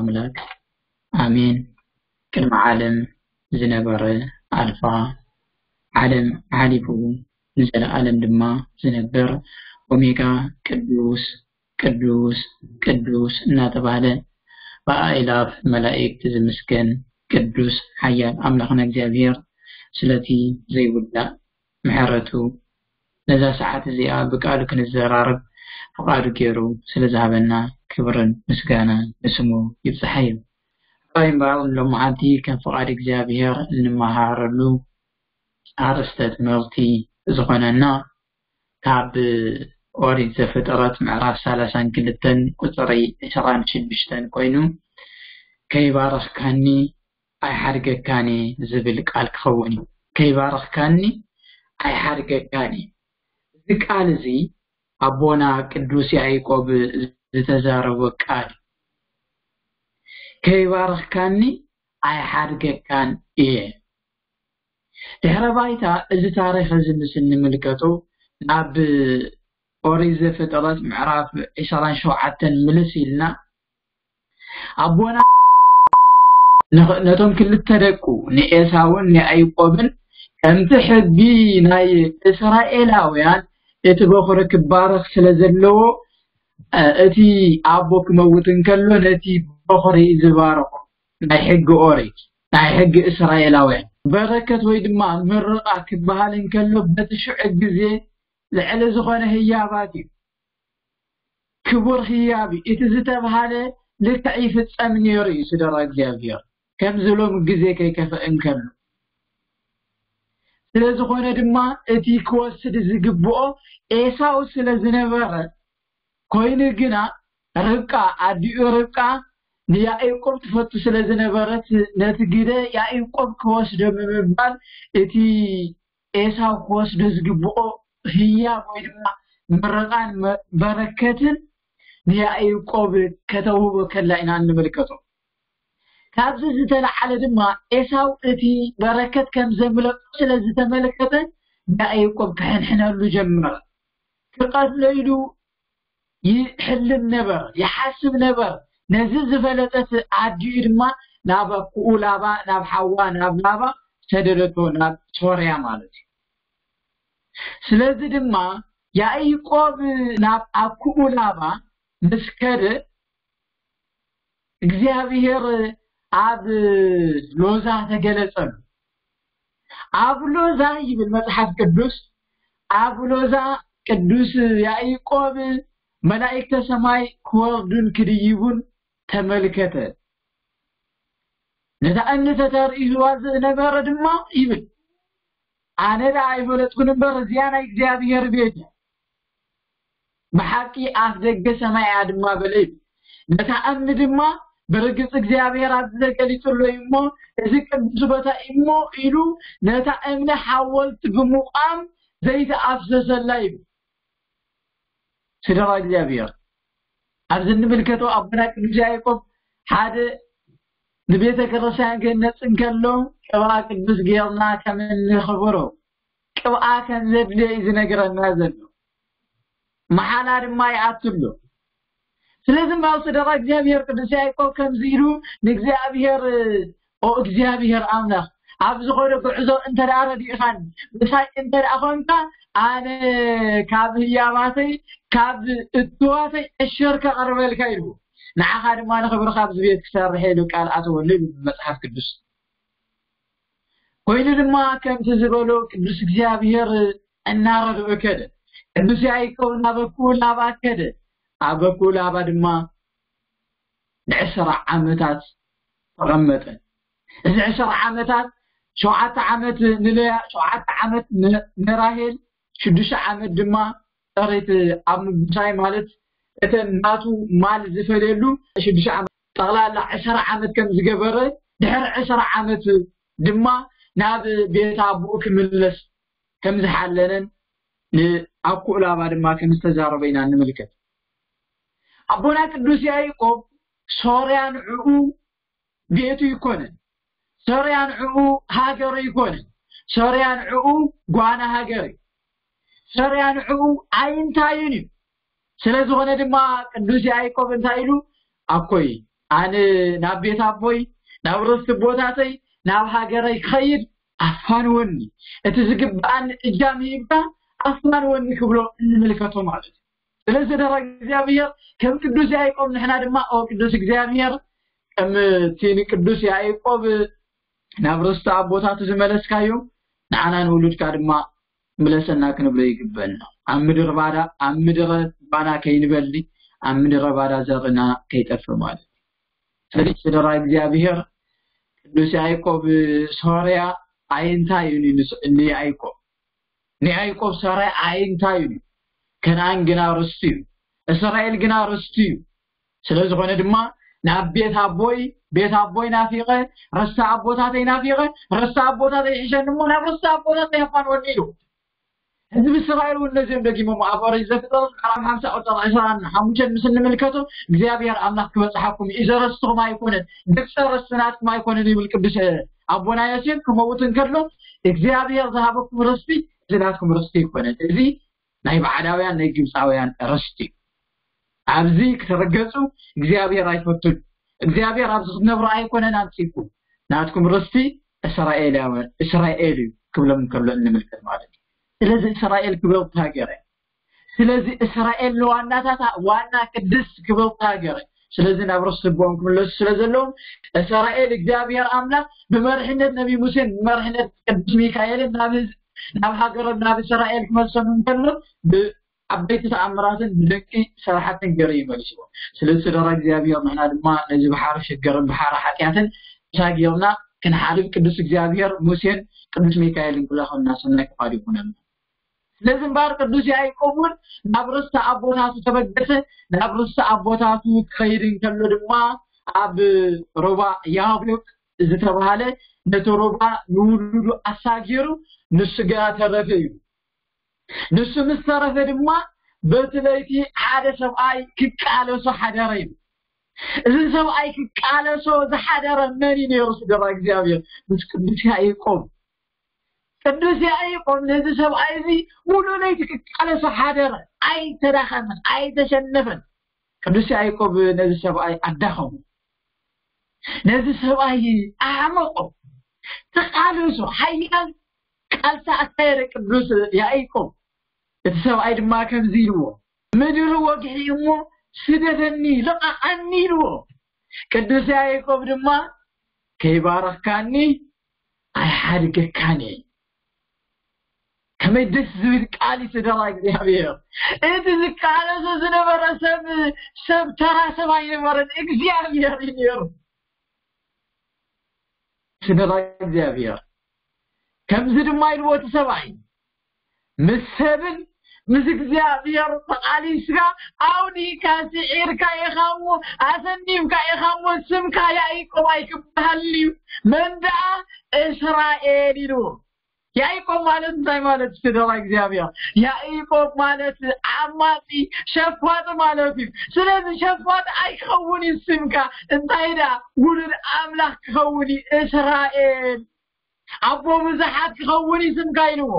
ኣምላክ ኣሜን። ቅድሚ ዓለም ዝነበረ ኣልፋ፣ ዓለም ሓሊፉ ንዘለኣለም ድማ ዝነብር፣ ኦሜጋ ቅዱስ ቅዱስ ቅዱስ እናተባህለ ብኣእላፍ መላእክት ዝምስገን ቅዱስ ሓያል ኣምላኽና እግዚኣብሔር፣ ስለቲ ዘይውዳእ ምሕረቱ፣ ነዛ ሰዓት እዚኣ ብቃሉ ክንዘራረብ ፍቓዱ ገይሩ ስለ ዝሃበና ክብርን ምስጋናን ንስሙ ይብጽሓዮ። እምበኣር ሎማዓንቲ ከም ፍቓድ እግዚኣብሔር እንመሃረሉ ኣርእስተ ትምህርቲ ዝኾነና ካብ ኦሪት ዘፍጥረት ምዕራፍ ሰላሳን ክልተን ቁጽሪ ዕስራን ሽዱሽተን ኮይኑ፣ "ከይባረኽካኒ ኣይሓድገካን እየ" ዝብል ቃል ክኸውን እዩ። "ከይባረኽካኒ ኣይሓድገካን እየ" እዚ ቃል እዚ ኣቦና ቅዱስ ያዕቆብ ዝተዛረቦ ቃል፣ "ከይባረኽካኒ ኣይሓድገካን እየ" ድሕረ ባይታ እዚ ታሪኽ እዚ ምስ እንምልከቶ፣ ናብ ኦሪት ዘፍጥረት ምዕራፍ ዕስራን ሸውዓተን ምልስ ኢልና፣ ኣቦና ንኽ- ነቶም ክልተ ደቁ ንኤሳውን ንያዕቆብን፣ ከምቲ ሕጊ ናይ እስራኤላውያን እቲ በኹሪ ክባረኽ ስለ ዘለዎ፣ እ፣ እቲ ኣቦ ክመውት እንከሎ ነቲ በኹሪ ዝባረኹ፣ ናይ ሕጊ ኦሪት፣ ናይ ሕጊ እስራኤላውያን በረከት ወይ ድማ ምርቓ ክበሃል እንከሎ በቲ ሽዑ ግዜ ልዕሊ ዝኾነ ህያባት እዩ። ክቡር ህያብ እዩ። እቲ ዝተብሃለ ልክዕ ይፍጸም ነይሩ እዩ። ስደራ እግዚኣብሔር ከምዚ ሎም ግዜ ከይከፍእ እንከሎ፣ ስለ ዝኾነ ድማ እቲ ክወስድ ዝግብኦ ኤሳው ስለ ዝነበረ፣ ኮይኑ ግና ርብቃ፣ ኣዲኡ ርብቃ ንያዕቆብ ትፈቱ ስለ ዝነበረት፣ ነቲ ግደ ያዕቆብ ክወስዶ ብምባል እቲ ኤሳው ክወስዶ ዝግብኦ ህያብ ወይ ድማ ምርቓን መ- በረከትን ንያዕቆብ ከተውህቦ ከላ ኢና እንምልከቶ። ካብዚ ዝተለዓለ ድማ ኤሳው እቲ በረከት ከም ዘምለጦ ስለ ዝተመልከተ ንያዕቆብ ክሕንሕነሉ ጀመረ። ክቐትሎ ኢሉ ይሕልም ነበር፣ ይሓስብ ነበር። ነዚ ዝፈለጠት ኣዲኡ ድማ ናብ ኣኩኡ ላባ፣ ናብ ሓዋ፣ ናብ ላባ ሰደደቶ፣ ናብ ሶርያ ማለት እዩ። ስለዚ ድማ ያዕቆብ ናብ ኣኩኡ ላባ ምስ ከደ እግዚኣብሔር ኣብ ሎዛ ተገለጸሉ። ኣብ ሎዛ ይብል መጽሓፍ ቅዱስ፣ ኣብ ሎዛ ቅዱስ ያዕቆብ መላእክተ ሰማይ ክወርዱን ክድይቡን ተመልከተ። ነታ እምኒ ተተርእይዋ ዝነበረ ድማ ይብል፣ ኣነ ደኣ ኣይፈለጥኩን እምበር እዚኣ ናይ እግዚኣብሔር ቤት እያ። ብሓቂ ኣፍ ደገ ሰማይ እያ ድማ በለ ይብል። ነታ እምኒ ድማ ብርግጽ እግዚኣብሔር ኣብዚ ተገሊጹ ኣሎ እዩ እሞ፣ እዚ ቅዱስ ቦታ እዩ እሞ ኢሉ ነታ እምኒ ሓወልቲ ብምቋም ዘይተኣፍሰሰላ ይብል። ስድራ እግዚኣብሔር፣ ኣብዚ እንምልከቶ ኣቦና ቅዱስ ያዕቆብ ሓደ ንቤተ ክርስቲያን ክህነጽ እንከሎ ቅብኣ ቅዱስ ጌርና ከም እንኽብሮ፣ ቅብኣ ከም ዘድልዮ እዩ ዝነግረና ዘሎ። መሓላ ድማ ይኣቱ ኣሎ። ስለዚ እምበኣር ስድራ እግዚኣብሔር ቅዱስ ያዕቆብ ከምዚ ኢሉ ንእግዚኣብሔር፣ "ኦ እግዚኣብሔር ኣምላኽ፣ ኣብ ዝኾነ ጉዕዞ እንተ ደኣ ረዲእኻኒ፣ ምሳይ እንተ ደኣ ኾንካ፣ ኣነ ካብ ህያባተይ፣ ካብ እትዋተይ ዕሸር ከቕርበልካ" ኢሉ። ንዓኻ ድማ ንኽብርኻ ኣብዚ ቤት ክሰርሕ ኢሉ ቃል ኣተወሉ ይብል መጽሓፍ ቅዱስ። ኮይኑ ድማ ከምቲ ዝበሎ ቅዱስ እግዚኣብሔር እናረድኦ ከደ። ቅዱስ ያዕቆብ ናብ ኣኩኡ ላባ ከደ። ኣብ ኣኩኡ ላባ ድማ ንዕስራ ዓመታት ተቐመጠ። እዚ ዕስራ ዓመታት፣ ሸውዓተ ዓመት ንልያ፣ ሸውዓተ ዓመት ን-፣ ንራሄል፣ ሽዱሽተ ዓመት ድማ ጥሪት ኣብ ምጉሳይ፣ ማለት እተን ናቱ ማል ዝፈልየሉ ሽዱሽተ ዓመት፣ ጠቕላላ ዕስራ ዓመት ከም ዝገበረ፣ ድሕሪ ዕስራ ዓመት ድማ ናብ ቤት ኣቦኡ ክምለስ ከም ዝሓለነን ንኣኩኡ ላባ ድማ ከም ዝተዛረበ ኢና ንምልከት። ኣቦና ቅዱስ ያዕቆብ ሶርያ ንዕኡ ቤቱ ይኮነን፣ ሶርያ ንዕኡ ሃገሩ ይኮነን፣ ሶርያ ንዕኡ ጓና ሃገር እዩ፣ ሶርያ ንዕኡ ኣይንታይን እዩ። ስለ ዝኾነ ድማ ቅዱስ ያዕቆብ እንታይ ኢሉ? ኣኮይ፣ ኣነ ናብ ቤት ኣቦይ፣ ናብ ርስቲ ቦታተይ፣ ናብ ሃገረይ ክኸይድ ኣፋንወኒ፣ እቲ ዝግብኣኒ እጃም ሂብካ ኣፋንወኒ ክብሎ እንምልከቶ ማለት እዩ። ስለዚ ደራ እግዚኣብሔር ከም ቅዱስ ያዕቆብ ንሕና ድማ ኦ ቅዱስ እግዚኣብሔር ከም እቲ ንቅዱስ ያዕቆብ ናብ ርስቲ ኣቦታቱ ዝመለስካዮም ንዓና ንውሉድካ ድማ ምለሰና ክንብሎ ይግበና። ኣብ ምድረ ባዳ ኣብ ምድረ ባዳ ከይንበሊ ኣብ ምድረ ባዳ ዘርእና ከይጠፍእ ማለት እዩ። ስለዚ ስደራ እግዚኣብሔር ቅዱስ ያዕቆብ ሶርያ ኣይንታይ እዩ ንያዕቆብ ንያዕቆብ ሶርያ ኣይንታይ እዩ። ከነኣን ግና ርስቱ እዩ። እስራኤል ግና ርስቱ እዩ። ስለ ዝኾነ ድማ ናብ ቤት ኣቦይ ቤት ኣቦይ ናፊቐ ርስቲ ኣቦታተይ ናፊቐ ርስቲ ኣቦታተይ ሒሸን እሞ ናብ ርስቲ ኣቦታተይ ኣፋንወኒ ኢሉ። ህዝቢ እስራኤል እውን ነዚኦም ደጊሞም ኣብ ኦሪት ዘፍጥረት ምዕራፍ ሓምሳ ቁፅሪ ዕስራን ሓሙሽተን ምስ እንምልከቶ እግዚኣብሔር ኣምላኽ ክበፅሓኩም እዩ፣ እዚ ርስትኹም ኣይኮነን፣ ግብፂ ርስቲ ናትኩም ኣይኮነን ይብል ቅዱስ ኣቦና ዮሴፍ ክመውት እንከሎ እግዚኣብሔር ዝሃበኩም ርስቲ እዚ ናትኩም ርስቲ ኣይኮነን፣ እዚ ናይ ባዕዳውያን ናይ ግብፃውያን ርስቲ እዩ። ኣብዚ ክትረገፁ እግዚኣብሔር ኣይፈቱን። እግዚኣብሔር ኣብዚ ክትነብሩ ኣይኮነን ኣምፂኩም ናትኩም ርስቲ እስራኤላውያን እስራኤል እዩ ክብሎም እንከሎ እንምልከት ማለት እዩ። ስለዚ እስራኤል ክብረውቲ ሃገር እያ። ስለዚ እስራኤል ንዋናታታ ዋና ቅድስት ክብረውቲ ሃገር እያ። ስለዚ ናብ ርስቲ ቦኦም ክምለሱ ስለ ዘለዎም እስራኤል እግዚኣብሔር ኣምላኽ ብመርሕነት ነቢ ሙሴን ብመርሕነት ቅዱስ ሚካኤልን ናብ ህዝቢ ናብ ሃገሮም ናብ እስራኤል ክመልሶም እንከሎ ዓበይቲ ተኣምራትን ብደቂ ሰራሕትን ገይሩ ይመልስዎ። ስለዚ ስደራ እግዚኣብሔር ንሕና ድማ ነዚ ባሕሪ ሽግርን ባሕሪ ሓጢኣትን ተሻጊርና ክንሓልፍ ቅዱስ እግዚኣብሔር ሙሴን ቅዱስ ሚካኤልን ክለኸና ሰናይ ፍቓድ ይኹነልና። ስለዚ እምበኣር ቅዱስ ያዕቆብ እውን ናብ ርስቲ ኣቦታቱ ተበገሰ። ናብ ርስቲ ኣቦታቱ ክኸይድ እንከሎ ድማ ኣብ ሩባ ያቦቅ ዝተባሃለ ነቲ ሩባ ንውሉዱ ኣሳጊሩ ንሱ ግና ተረፈ እዩ። ንሱ ምስ ተረፈ ድማ በቲ ለይቲ ሓደ ሰብኣይ ክቃለሶ ሓደረ እዩ። እዚ ሰብኣይ ክቃለሶ ዝሓደረ መን እዩ ነይሩ? ስደራ እግዚኣብሔር ምስ ቅዱስ ያዕቆብ። ቅዱስ ያዕቆብ ነዚ ሰብኣይ እዚ ሙሉእ ለይቲ ክቃለሶ ሓደረ። ኣይተዳኸመን፣ ኣይተሸነፈን። ቅዱስ ያዕቆብ ነዚ ሰብኣይ ኣዳኸሞ። ነዚ ሰብኣይ ኣዕመቆ። ተቃለሶ ሓያል ቃልሲ ኣካየደ ቅዱስ ያዕቆብ። እቲ ሰብኣይ ድማ ከምዚ ኢልዎ፣ ምድሪ ወግሒ እሞ ስደደኒ ልቐቐኒ ኢልዎ። ቅዱስ ያዕቆብ ድማ ከይባረኽካኒ ኣይሓድገካን እየ። ከመይ ደስ ዝብል ቃል እዩ ስደራ እግዚኣብሔር። እቲ ዝቃለሶ ዝነበረ ሰብ ሰብ ተራ ሰብ ኣይነበረን፣ እግዚኣብሔር እዩ ነይሩ። ስደራ እግዚኣብሔር ከምዚ ድማ ኢልዎ እቲ ሰብኣይ ምስ ሰብን ምስ እግዚኣብሔር ተቓሊስካ ኣውዲእካ ስዒርካ ኢኻ እሞ ኣሰኒፍካ ኢኻ እሞ ስምካ ያዕቆብ ኣይክበሃልን እዩ መን ደኣ እስራኤል ኢልዎ። ያዕቆብ ማለት እንታይ ማለት እዩ? ስደራ እግዚኣብሔር ያዕቆብ ማለት ዓማፂ ሸፋጢ ማለት እዩ። ስለዚ ሸፋጢ ኣይክኸውን እዩ ስምካ። እንታይ ደኣ ውሉድ ኣምላኽ ክኸውን እዩ እስራኤል ኣቦ ብዙሓት ክኸውን እዩ ስምካ ኢልዎ።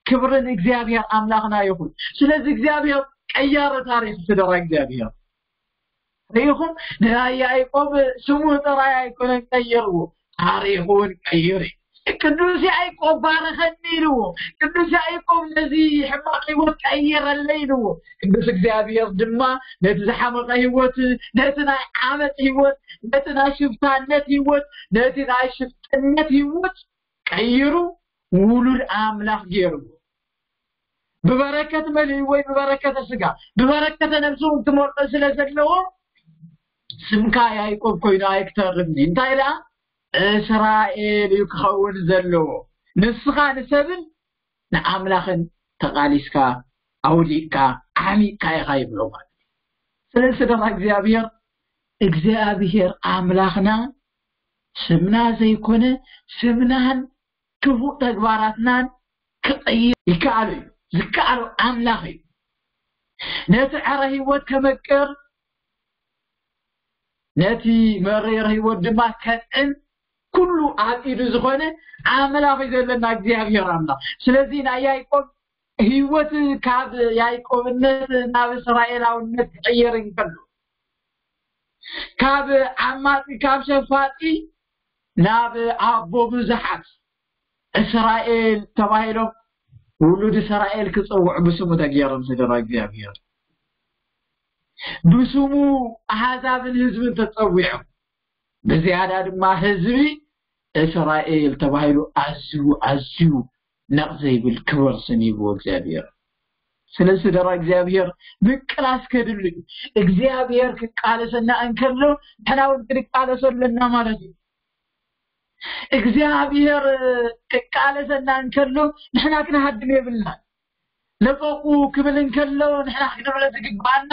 ክብሪ ንእግዚኣብሔር ኣምላኽና ይኹን። ስለዚ እግዚኣብሔር ቀያሪ ታሪኽ ስደራ እግዚኣብሔር ርኢኹም ንናይ ያዕቆብ ስሙ ጥራይ ኣይኮነን ቀይርዎ፣ ታሪኹ እውን ቀይሩ እዩ። ቅዱስ ያዕቆብ ባረኸኒ ኢልዎ። ቅዱስ ያዕቆብ ነዚ ሕማቕ ህይወት ቀይረለይ ኢልዎ። ቅዱስ እግዚኣብሔር ድማ ነቲ ዝሓመቐ ህይወት፣ ነቲ ናይ ዓመፅ ህይወት፣ ነቲ ናይ ሽፍታነት ህይወት፣ ነቲ ናይ ሽፍጥነት ህይወት ቀይሩ ውሉድ ኣምላኽ ገይርዎ። ብበረከት መሊኡ ወይ ብበረከተ ስጋ ብበረከተ ነብሲ እውን ክመርዖ ስለ ዘለዎ ስምካ ያዕቆብ ኮይኑ ኣይክተርፍን እዩ። እንታይ ደኣ እስራኤል እዩ ክኸውን ዘለዎ። ንስኻ ንሰብን ንኣምላኽን ተቓሊስካ ኣውዲቕካ ዓሚቕካ ኢኻ ይብሎ ማለት እዩ። ስለዚ ስደራ እግዚኣብሔር እግዚኣብሔር ኣምላኽና ስምና ዘይኮነ ስምናን ክፉእ ተግባራትናን ክቕይር ይከኣሉ እዩ። ዝከኣሉ ኣምላኽ እዩ። ነቲ ዕረ ህይወት ከመቅር ነቲ መሪር ህይወት ድማ ከጥዕም ኩሉ ኣብ ኢዱ ዝኾነ ኣምላኽ እዩ ዘለና እግዚኣብሔር ኣምላኽ። ስለዚ ናይ ያዕቆብ ህይወት ካብ ያዕቆብነት ናብ እስራኤላውነት ክቕየር እንከሎ ካብ ዓማጺ፣ ካብ ሸፋጢ ናብ ኣቦ ብዙሓት እስራኤል ተባሂሎም ውሉድ እስራኤል ክጽውዑ ብስሙ ተገይሮም። ስድራ እግዚኣብሔር፣ ብስሙ ኣሕዛብን ህዝብን ተጸዊዖም። ብዝያዳ ድማ ህዝቢ እስራኤል ተባሂሉ ኣዝዩ፣ ኣዝዩ ነቕ ዘይብል ክቡር ስም ይብዎ እግዚኣብሔር። ስለዚ ስድራ እግዚኣብሔር ምቅላስ ከድሉ እዩ። እግዚኣብሔር ክቃለሰና እንከሎ ንሕና እውን ክንቃለሶ ኣለና ማለት እዩ። እግዚኣብሔር ክቃለሰና እንከሎ ንሕና ክንሃድም የብልና። ለቀቁ ክብል እንከሎ ንሕና ክንብሎ ዝግባኣና፣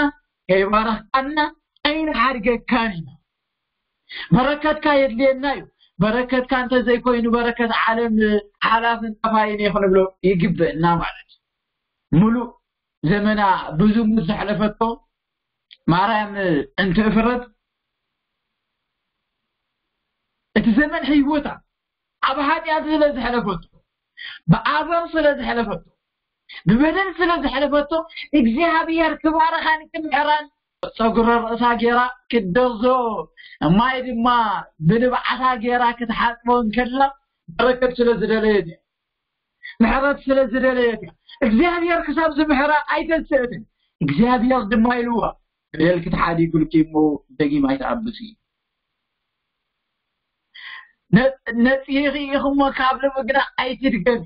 ከይባረኽካና ኣይንሓድገካን ኢና። በረከትካ የድልየና እዩ። በረከትካ እንተዘይኮይኑ በረከት ዓለም ሓላፍን ጠፋይን እዩ ክንብሎ ይግበእና ማለት እዩ። ሙሉእ ዘመና ብዝሙት ዘሕለፈቶ ማርያም እንትእፍረት፣ እቲ ዘመን ህይወታ ኣብ ሓጢኣት ስለ ዘሕለፈቶ፣ ብኣዘር ስለ ዘሕለፈቶ፣ ብበደል ስለ ዘሕለፈቶ፣ እግዚኣብሔር ክባርኻን ክምሕራን ጸጉሪ ርእሳ ገይራ ክትደርዞ፣ ማይ ድማ ብንብዓታ ገይራ ክትሓጽቦ እንከላ በረከት ስለ ዝደለየት እያ። ምሕረት ስለ ዝደለየት እያ። እግዚኣብሔር ክሳብ ዝምሕራ ኣይተስእትን። እግዚኣብሔር ድማ ኢልዋ፣ በደልኪ ተሓዲጉልኪ እሞ ደጊም ኣይትኣብሲ። ነ-፣ ነጺሂኺ ኢኺ እሞ ካብ ሎሚ ግና ኣይትድገሚ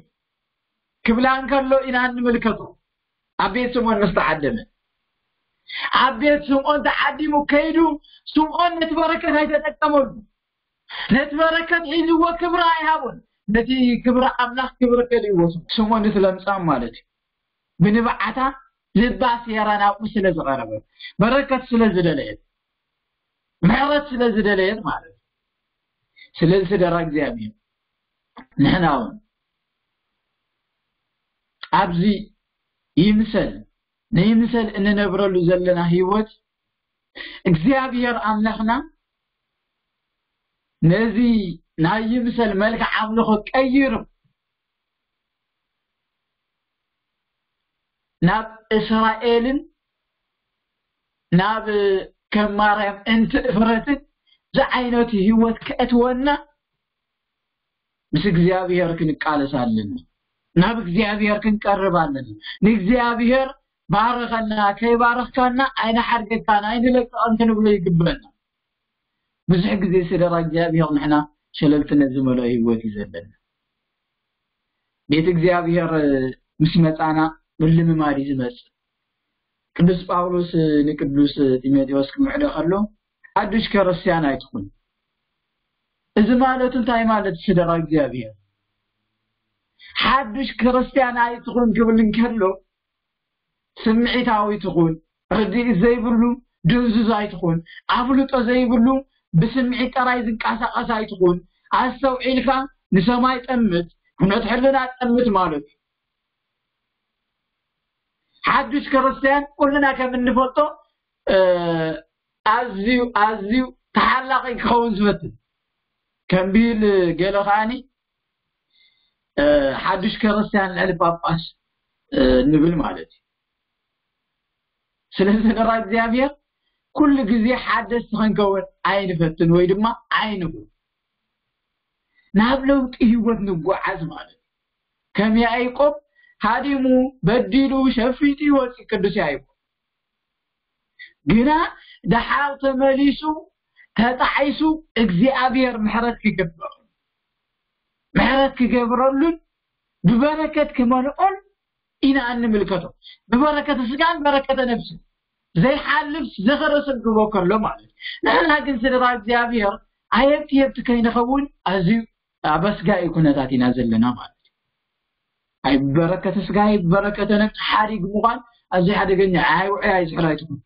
ክብላ እንከሎ ኢና እንምልከቶ። ኣብ ቤት ስምዖን ምስ ተዓደመ፣ ኣብ ቤት ስምዖን ተዓዲሙ ከይዱ፣ ስምዖን ነቲ በረከት ኣይተጠቀመሉ። ነቲ በረከት ሒዝዎ ክብሪ ኣይሃቦን። ነቲ ክብሪ ኣምላኽ ክብሪ ከሊእዎ። ስምዖን እቲ ለምጻም ማለት እዩ። ብንብዓታ ልባ ሴራ ናብኡ ስለ ዝቐረበት፣ በረከት ስለ ዝደለየት፣ ምሕረት ስለ ዝደለየት ማለት እዩ። ስለዚ ስድራ እግዚኣብሔር፣ ንሕና እውን ኣብዚ ይምሰል ንይምሰል እንነብረሉ ዘለና ህይወት እግዚኣብሔር ኣምላኽና ነዚ ናይ ይምሰል መልክዕ ኣምልኾ ቀይሩ ናብ እስራኤልን ናብ ከም ማርያም እንትእፍረትን ዝዓይነቱ ህይወት ከእትወና ምስ እግዚኣብሔር ክንቃለስ ኣለና። ናብ እግዚኣብሔር ክንቀርብ ኣለና። ንእግዚኣብሔር ባርኸና፣ ከይባረኽካና ኣይንሓድገካን፣ ኣይንለቅቕን ክንብሎ ይግበና። ብዙሕ ግዜ ስድራ እግዚኣብሔር ንሕና ሸለልትነት ዝመልኦ ህይወት እዩ ዘለና። ቤት እግዚኣብሔር ምስ መጻና ምልምማድ እዩ ዝመጽእ። ቅዱስ ጳውሎስ ንቅዱስ ጢሞቴዎስ ክምዕዶ ከሎ፣ ሓዱሽ ክርስትያን ኣይትኹን። እዚ ማለቱ እንታይ ማለት ስድራ እግዚኣብሔር? ሓዱሽ ክርስትያን ኣይትኹን ክብል እንከሎ፣ ስምዒታዊ ትኹን፣ ርድኢት ዘይብሉ ድንዙዝ ኣይትኹን፣ ኣፍልጦ ዘይብሉ ብስምዒት ጥራይ ዝንቀሳቐስ ኣይትኹን፣ ኣስተውዒልካ ንሰማይ ጠምት፣ ኩነት ሕልና ጠምት ማለት እዩ። ሓዱሽ ክርስትያን ኩልና ከም እንፈልጦ፣ እ፣ ኣዝዩ፣ ኣዝዩ ተሓላቒ ክኸውን ዝፈትን። ከም ብሂል ገለ ከኣኒ፣ እ፣ ሓዱሽ ክርስትያን ልዕሊ ጳጳስ፣ እ፣ ንብል ማለት እዩ። ስለዚ ስድራ እግዚኣብሔር ኩሉ ግዜ ሓደስቲ ክንከውን ኣይንፈትን ወይ ድማ ኣይንኹን። ናብ ለውጢ ህይወት ንጓዓዝ ማለት እዩ። ከም ያዕቆብ ሃዲሙ፣ በዲሉ፣ ሸፊቱ ይወፅእ ቅዱስ ያዕቆብ። ግና ደሓር ተመሊሱ፣ ተጣዒሱ፣ እግዚኣብሔር ምሕረት ክገብረሉ፣ ምሕረት ክገብረሉን ብበረከት ክመልኦን ኢና እንምልከቶ። ብበረከተ ስጋን በረከተ ነፍስን ዘይሓልፍ ዝኸረ ሰብ ክቦ ከሎ ማለት እዩ። ንሕና ግን ስድራ እግዚኣብሔር ኣየብቲ የብቲ ከይንኸውን ኣዝዩ ኣበስጋኢ ኩነታት ኢና ዘለና ማለት እዩ። ኣይ በረከተ ስጋ፣ ኣይ በረከተ ነፍሲ ሓዲግ ምዃን ኣዝዩ ሓደገኛ፣ ኣይ ውዑይ፣ ኣይ ዝሕል ኣይትኹን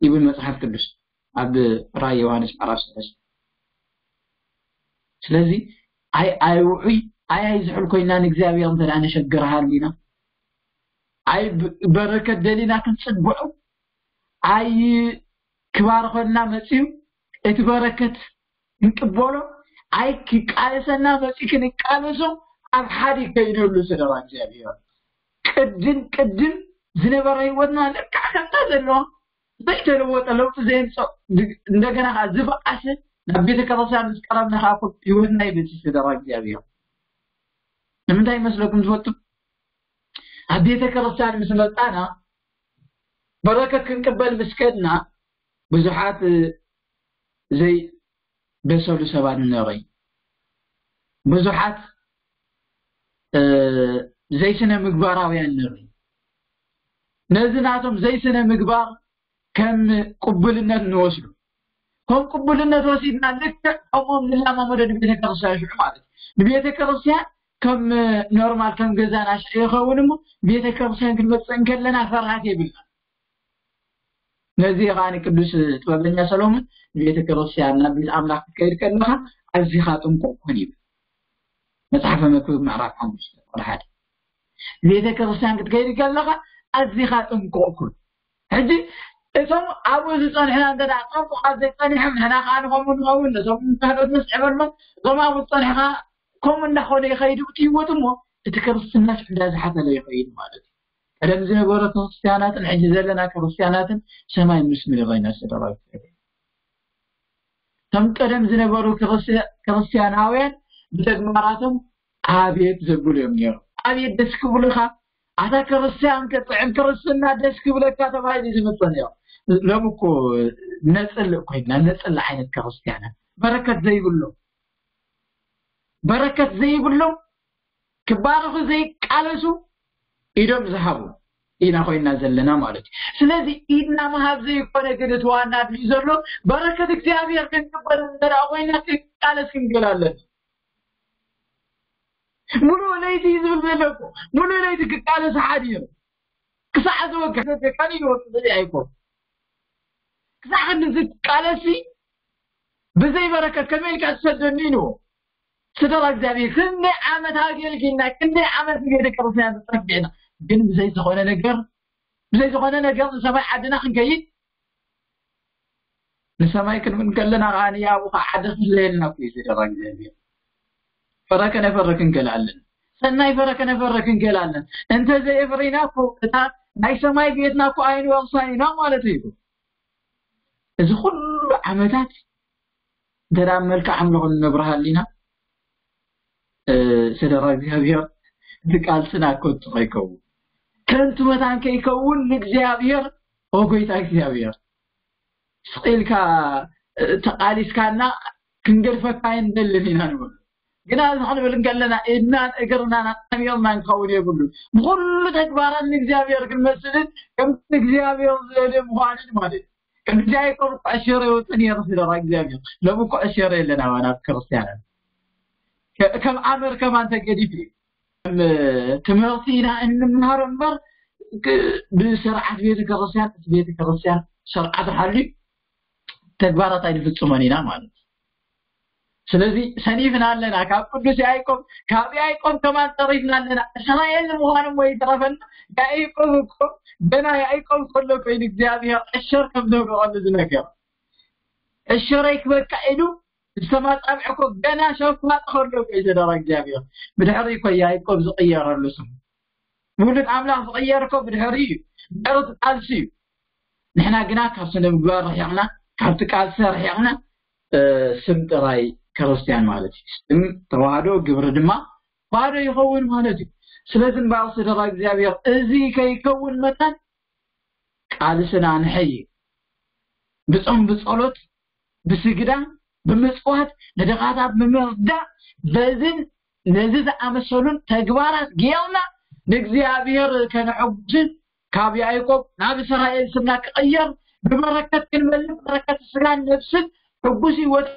ይብል መጽሓፍ ቅዱስ ኣብ ራእይ ዮሃንስ ምዕራፍ ሰለስተ። ስለዚ ኣይ፣ ኣይ ውዑይ፣ ኣይ፣ ኣይ ዝሕል ኮይና ንእግዚኣብሔር እንተ ደኣ ነሸግር ሃሊና፣ ኣይ ብ-፣ በረከት ደሊና ክንጽግዖ፣ ኣይ ክባርኸና መጺኡ እቲ በረከት ክንቅበሎ፣ ኣይ ክቃለሰና መጺኡ ክንቃለሶ ኣብ ሓዲግ ከይንህሉ ስድራ እግዚኣብሔር። ቅድም ቅድም ዝነበረ ህይወትና ልክዕ ከምታ ዘለዋ ዘይተለወጠ ለውጢ ዘየምፅእ፣ እንደገና ከዓ ዝበኣሰ ናብ ቤተክርስትያን ምስ ቀረብና ከዓ እኮ ህይወትና ይበፅሕ። ስደራ እግዚኣብሔር ንምንታይ ይመስለኩም? ዝፈቱ ኣብ ቤተክርስትያን ምስ መጣና በረከት ክንቅበል ምስ ከድና ብዙሓት ዘይበሰሉ ሰባት ንርኢ። ብዙሓት ዘይስነ ምግባራውያን ንርኢ። ነዚ ናቶም ዘይስነ ምግባር ከም ቅቡልነት ንወስዱ። ከም ቅቡልነት ወሲድና ልክዕ ከምኦም ንላማመዶ ንቤተክርስትያን ሽዑ ማለት እዩ። ንቤተክርስትያን ከም ኖርማል ከም ገዛና ሽዑ ይኸውን እሞ ቤተክርስትያን ክንመፅእ እንከለና ፍርሃት የብልና። ነዚ ከዓ ንቅዱስ ጥበበኛ ሰሎሞን ንቤተክርስትያን ናብ ቤት ኣምላኽ ክትከይድ ከለኻ ኣዚኻ ጥንቁቕ ኩን ይብል። መጽሓፈ መክብብ ምዕራፍ ሓሙሽተ ቁጥሪ ሓደ። ቤተክርስትያን ክትከይድ ከለኻ ኣዚኻ ጥንቁቕ ኩን። ሕጂ እቶም ኣብኡ ዝጸንሕና እንተ ደኣ ጠንቁቓት ዘይጸኒሖም ንሕና ከዓ ንኸምኡ ንኸውን ነቶም ንካህዶት መስዕበሎም እቶም ኣብኡ ዝጸንሕኻ ከምኡ እንዳኾነ ይኸይድ እቲ ህይወት እሞ እቲ ክርስትና ሽዕዳ ዝሓተለ ይኸይድ ማለት እዩ። ቀደም ዝነበረ ክርስትያናትን ሕጂ ዘለና ክርስትያናትን ሰማይ ምስ ምድሪ ኮይና ዝተደረገ እቶም ቀደም ዝነበሩ ክርስትያናውያን ብተግባራቶም ኣቤት ዘብሉ እዮም ነይሩ። ኣቤት ደስ ክብሉኻ ኣታ ክርስትያን ክጥዕም ክርስትና ደስ ክብለካ ተባሂሉ ዝምፀ ነይሩ። ሎም እኮ ነፅልእ ኮይና ነፅል ዓይነት ክርስትያናት በረከት ዘይብሎም በረከት ዘይብሎም ክባረኹ ዘይቃለሱ ኢዶም ዝሃቡ ኢና ኮይና ዘለና ማለት እዩ። ስለዚ ኢድና ምሃብ ዘይኮነ ግን እቲ ዋና ኣድልዩ ዘሎ በረከት እግዚኣብሔር ክንቅበል እንተ ደኣ ኮይና ክንቃለስ ክንገል ኣለና። ሙሉእ ለይቲ እዩ ዝብል ዘሎ እኮ። ሙሉእ ለይቲ ክቃለስ ሓዲሩ ክሳዕ ዝወግሕ ዘደካን ይወርቅ ዘይ ኣይኮን ክሳዕ ክንዚ ትቃለሲ ብዘይ በረከት ከመይ ኢልካ ትሰደኒ ኢልዎ። ስደራ እግዚኣብሔር ክንደይ ዓመት ኣገልጊልና ክንደይ ዓመት ንቤተ ክርስትያን ተጸጊዕና ግን ብዘይ ዝኾነ ነገር ብዘይ ዝኾነ ነገር ንሰማይ ዓድና ክንከይድ ንሰማይ ክንምን ከለና ከዓ ንያቡ ከዓ ዓዲ ክፍለየልና እኮ እዩ ስደራ እግዚኣብሔር። ፈረ ከነፈረ ክንገል ኣለን። ሰናይ ፈረ ከነፈረ ክንገል ኣለን። እንተ ዘየፍሪና እኮ እታ ናይ ሰማይ ቤትና እኮ ኣይንወርሳን ኢና ማለት እዩ። እዚ ኩሉ ዓመታት እንተ ደኣ መልክዕ ኣምልኾ ንነብርሃሉ ኢና ስደራ እግዚኣብሔር እቲ ቃልስና ከንቱ ከይከውን ከንቱ መታን ከይከውን ንእግዚኣብሔር ኦ ጎይታ እግዚኣብሔር ስቕ ኢልካ ተቓሊስካና ክንገድፈካ ኣይንደልን ኢና ንብል ግና እዚ ክንብል እንከለና ኢድናን እግርናን ኣጣሚርና ንኸውን የብሉ ብኩሉ ተግባራት ንእግዚኣብሔር ክንመስልን ከምቲ እግዚኣብሔር ዝደልዮ ምዃንን ማለት እዩ ከምዚ ኣይኮኑ ኩዕሸረ ይወፅእ ነይሩ ስደራ እግዚኣብሔር ሎም ኩዕሸረ የለን ኣባና ክርስትያናት ከም ኣመር ከማን ተገዲፍ እዩ ትምህርቲ ኢና እንምሃሮ እምበር ብስርዓት ቤተክርስትያን እቲ ቤተክርስትያን ስርዓት ሓልዩ ተግባራት ኣይንፍፅሞን ኢና ማለት እዩ ስለዚ ሰኒፍና ኣለና ካብ ቅዱስ ያዕቆብ ካብ ያዕቆብ ከማን ተሪፍና ኣለና እስራኤል ንምዃኑ እሞ ይትረፈና ያዕቆብ እኮ ገና ያዕቆብ ከሎ ኮይኑ እግዚኣብሔር ዕሸር ከም ዘውደቐሉ ዝነገር ዕሸረይ ክበቃ ኢሉ ዝተማጻብዕ እኮ ገና ሸፋጥ ከሎ እኮ እዩ ዝደረ እግዚኣብሔር ብድሕሪ እኮ ያዕቆብ ዝቕየረሉ ስሙ ውሉድ ኣምላኽ ዝቕየር እኮ ብድሕሪ እዩ ድሕሪ ቃልሲ እዩ ንሕና ግና ካብ ስነ ምግባር ርሒቕና ካብቲ ቃልሲ ርሒቕና ስም ጥራይ ክርስትያን ማለት እዩ ስም ተዋህዶ ግብሪ ድማ ባዶ ይኸውን ማለት እዩ ስለዚ እምበኣር ስደራ እግዚኣብሔር እዚ ከይከውን መታን ቃልስና ንሐይ ብጾም ብጸሎት ብስግዳን ብምጽዋት ንድኻታት ብምርዳእ በዝን ነዚ ዝኣመሰሉን ተግባራት ጌርና ንእግዚኣብሔር ከነሐጉስን ካብ ያዕቆብ ናብ እስራኤል ስምና ክቕየር ብበረከት ክንመልእ በረከት ስጋን ነብስን ሕጉስ ህይወት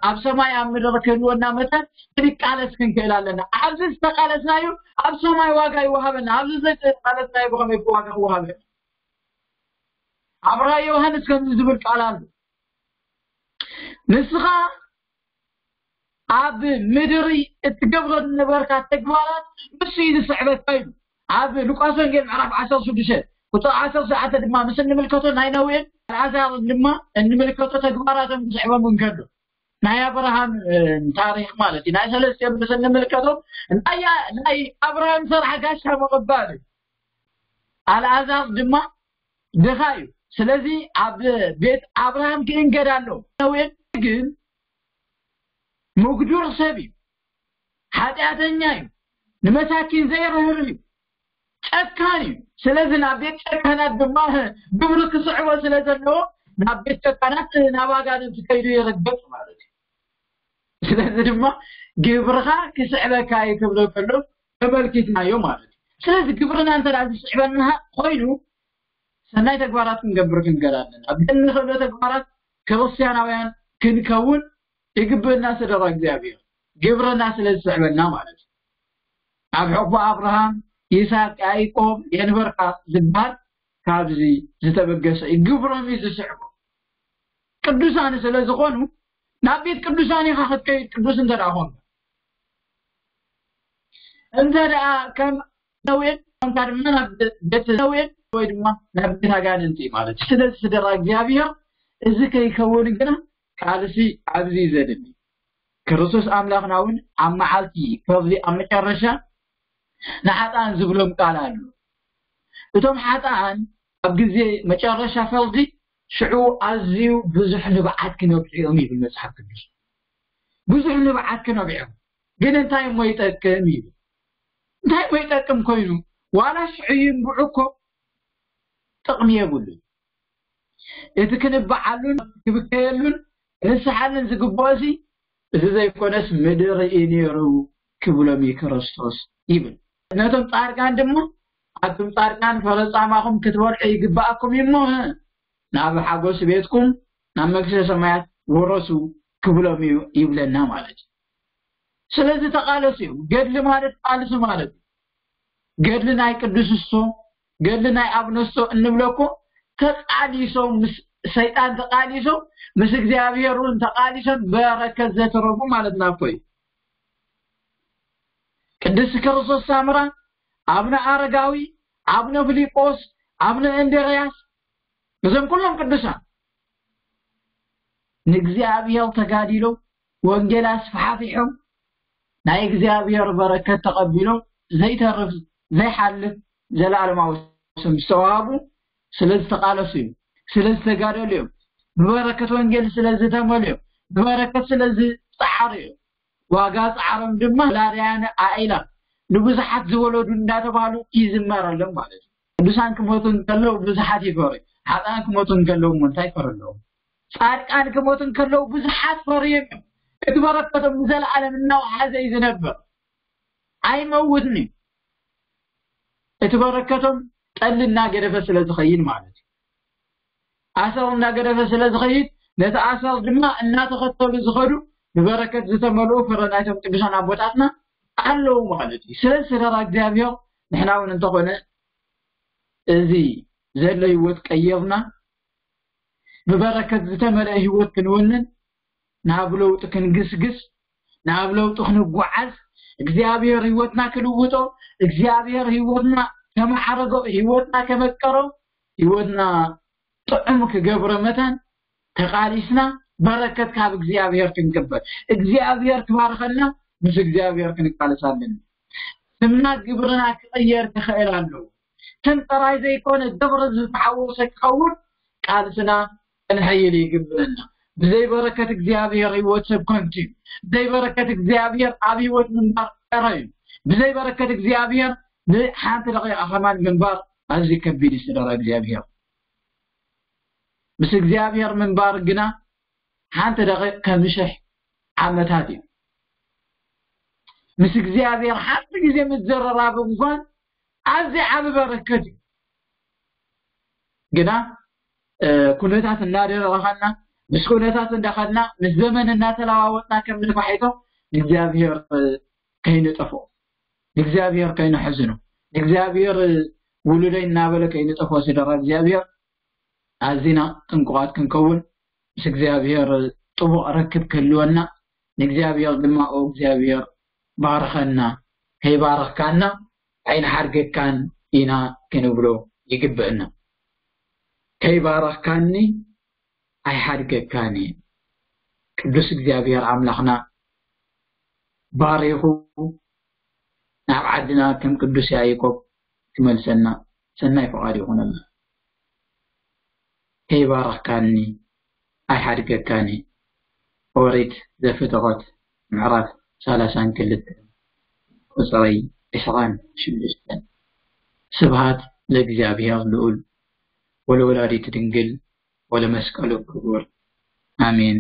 ኣብ ሰማይ ኣብ ምድሪ ክህልወና መጠን ክንቃለስ ክንክእል ኣለና። ኣብዚ ዝተቃለስናዮ ኣብ ሰማይ ዋጋ ይወሃበና፣ ኣብዚ ዘይተቃለስናዮ ብኸመይ ዋጋ ክወሃበና? ኣብ ራእይ ዮሃንስ ከምዚ ዝብል ቃል ኣሎ፣ ንስኻ ኣብ ምድሪ እትገብሮ ዝነበርካ ተግባራት ንሱ እዩ ዝስዕበካ ኢሉ። ኣብ ሉቃስ ወንጌል ምዕራፍ ዓሰርተ ሽዱሽተ ቁፅሪ ዓሰርተ ትሽዓተ ድማ ምስ እንምልከቶ ናይ ነውኤን ኣልዓዛርን ድማ እንምልከቶ ተግባራቶም ክስዕቦም እንከሎ ናይ ኣብርሃም ታሪክ ማለት እዩ ናይ ሰለስቲኦም ምስ እንምልከቶም ናይ ኣብርሃም ስራሕ ጋሻ ምቕባል እዩ ኣልዓዛር ድማ ድኻ እዩ ስለዚ ኣብ ቤት ኣብርሃም ክእንገድ ኣሎ። ነዌ ግን ምጉዱር ሰብ እዩ፣ ሓጢኣተኛ እዩ፣ ንመሳኪን ዘይርህር እዩ፣ ጨካን እዩ። ስለዚ ናብ ቤት ጨካናት ድማ ግብሪ ክስዕቦ ስለ ዘለዎ ናብ ቤት ጨካናት፣ ናብ ኣጋንንቲ ከይዱ ይርገጥ ማለት እዩ። ስለዚ ድማ ግብርኻ ክስዕበካ እዩ ክብሎ ከሎ ተመልኪትናዮ ማለት እዩ። ስለዚ ግብርና እንተ ደኣ ዝስዕበና ኮይኑ ሰናይ ተግባራት ክንገብር ክንገር ኣለና። ኣብ እንኽእሎ ተግባራት ክርስቲያናውያን ክንከውን ይግብእና ስደራ እግዚኣብሔር፣ ግብርና ስለ ዝስዕበና ማለት እዩ። ኣብ ሕቁ ኣብርሃም፣ ይስሐቅ፣ ያዕቆብ የንበርካ ዝበሃል ካብዚ ዝተበገሰ እዩ። ግብሮም እዩ ዝስዕቦ። ቅዱሳን ስለ ዝኾኑ ናብ ቤት ቅዱሳን ኢኻ ክትከይድ ቅዱስ እንተ ደኣ ኾንካ። እንተ ደኣ ከም ነዌን ኮንካ ድማ ናብ ቤት ነዌን ወይ ድማ ናብ ቤት ኣጋንንቲ ማለት እዩ። ስለዚ ስደራ እግዚኣብሔር እዚ ከይከውን ግና ቃልሲ ኣብዚ እዩ ዘድሊ። ክርስቶስ ኣምላኽና እውን ኣብ መዓልቲ ፍርዲ ኣብ መጨረሻ ንሓጥኣን ዝብሎም ቃል ኣሎ። እቶም ሓጥኣን ኣብ ግዜ መጨረሻ ፍርዲ ሽዑ ኣዝዩ ብዙሕ ንብዓት ክነብዑ እዮም ይብል መጽሓፍ ቅዱስ። ብዙሕ ንብዓት ክነብዑ እዮም። ግን እንታይ እሞ ይጠቅም ይብል። እንታይ እሞ ይጠቅም ኮይኑ ዋላ ሽዑ ይንብዑ እኮ ጥቕሚ የብሉን። እቲ ክንብዓሉን ክብከየሉን ክንስሓልን ዝግብኦ እዚ እዚ ዘይኮነስ ምድሪ እዩ ነይሩ ክብሎም እዩ ክርስቶስ ይብል። ነቶም ጻድቃን ድማ ኣቱም ጻድቃን ፈረጻማኹም ክትበልዑ ይግባኣኩም እዩ እሞ ናብ ሓጎስ ቤትኩም ናብ መንግስተ ሰማያት ወረሱ ክብሎም እዩ ይብለና ማለት እዩ። ስለዚ ተቃለሱ እዩ። ገድሊ ማለት ቃልሲ ማለት እዩ። ገድሊ ናይ ቅዱስ እሶ፣ ገድሊ ናይ ኣብነሶ እንብለኮ ተቃሊሶም ምስ ሰይጣን ተቃሊሶም ምስ እግዚኣብሔር እውን ተቃሊሶም በረከት ዘተረፉ ማለትና እኮ እዩ። ቅድስቲ ክርስቶስ ሳምራ፣ ኣብነ ኣረጋዊ፣ ኣብነ ፊልጶስ፣ ኣብነ እንድርያስ፣ እዞም ኩሎም ቅዱሳን ንእግዚኣብሔር ተጋዲሎም ወንጌል ኣስፋሕፊሖም ናይ እግዚኣብሔር በረከት ተቐቢሎም ዘይተርፍ ዘይሓልፍ ዘለኣለማዊ ስም ዝተዋሃቡ ስለ ዝተቃለሱ እዮም፣ ስለ ዝተጋደሉ እዮም፣ ብበረከት ወንጌል ስለ ዝተመሉ እዮም፣ ብበረከት ስለ ዝጸዓሩ እዮም። ዋጋ ጻዕሮም ድማ ወላድያን ኣኢላ ንብዙሓት ዝወለዱ እንዳተባህሉ ይዝመረሎም ማለት እዩ። ቅዱሳን ክሞቱ እንከለዉ ብዙሓት ይፈሩ። ሓጥኣን ክሞቱ እንከለዉ እሞ እንታይ ይፈሩ ኣለዉ? ጻድቃን ክሞቱ እንከለዉ ብዙሓት ፈርዮም እዮም። እቲ በረከቶም ንዘለኣለም እናወሓዘ እዩ ዝነብር። ኣይመውትን እዩ። እቲ በረከቶም ጠሊ እናገደፈ ስለ ዝኸይድ ማለት እዩ። ኣሰር እናገደፈ ስለ ዝኸይድ ነቲ ኣሰር ድማ እናተኸተሉ ዝኸዱ ብበረከት ዝተመልኡ ፍረ ናይቶም ቅዱሳን ኣቦታትና ኣለዉ ማለት እዩ። ስለዚ ስደራ እግዚኣብሔር ንሕና እውን እንተኾነ እዚ ዘሎ ህይወት ቀይርና ብበረከት ዝተመልአ ህይወት ክንውንን ናብ ለውጢ ክንግስግስ ናብ ለውጢ ክንጓዓዝ እግዚኣብሔር ህይወትና ክልውጦ እግዚኣብሔር ህይወትና ከመዓረጎ ህይወትና ከመቀሮ ህይወትና ጥዑም ክገብሮ መታን ተቃሊስና በረከት ካብ እግዚኣብሔር ክንቅበል እግዚኣብሔር ክባርኸልና ምስ እግዚኣብሔር ክንቃለስ ኣለና። ስምና ግብርና ክቕየር ክኽእል ኣለዎ። ስም ጥራይ ዘይኮነ ግብሪ ዝተሓወሰ ክኸውን ቃልስና ክንሕይል ይግብእና። ብዘይ በረከት እግዚኣብሔር ህይወት ሰብ ከንቱ እዩ። ብዘይ በረከት እግዚኣብሔር ኣብ ህይወት ምንባር ቀረ እዩ። ብዘይ በረከት እግዚኣብሔር ንሓንቲ ደቂቃ ከማን ምንባር ኣዝዩ ከቢድ እዩ። ስደራ እግዚኣብሔር ምስ እግዚኣብሔር ምንባር ግና ሓንቲ ደቂቅ ከም ሽሕ ዓመታት እዩ። ምስ እግዚኣብሔር ሓንቲ ግዜ ምዝርራብ እንኳን ኣዝዩ ዓቢ በረከት እዩ። ግና ኩነታት እናደረኸና ምስ ኩነታት እንዳኸድና ምስ ዘመን እናተለዋወጥና ከም ነፋሒቶ ንእግዚኣብሔር ከይንጠፍኦ ንእግዚኣብሔር ከይንሕዝኖ ንእግዚኣብሔር ውሉደይ እናበለ ከይንጠፍኦ ስደራ እግዚኣብሔር ኣዚና ጥንቁቓት ክንከውን ምስ እግዚኣብሔር ጥቡቕ ርክብ ክህልወና ንእግዚኣብሔር ድማ ኦ እግዚኣብሔር ባርኸና ከይባረኽካና ኣይንሓድገካን ኢና ክንብሎ ይግብእና። ከይባረኽካኒ ኣይሓድገካን እየ። ቅዱስ እግዚኣብሔር ኣምላኽና ባሪኹ ናብ ዓድና ከም ቅዱስ ያዕቆብ ክመልሰና ሰናይ ፍቓድ ይኹነልና። ከይባረኽካኒ ኣይሓድገካን እየ። ኦሪት ዘፍጥረት ምዕራፍ ሰላሳን ክልተ ቁጽሪ ዕስራን ሽዱሽተን። ስብሃት ለእግዚኣብሔር ልዑል ወለወላዲት ድንግል ወለመስቀሉ ክቡር። ኣሜን።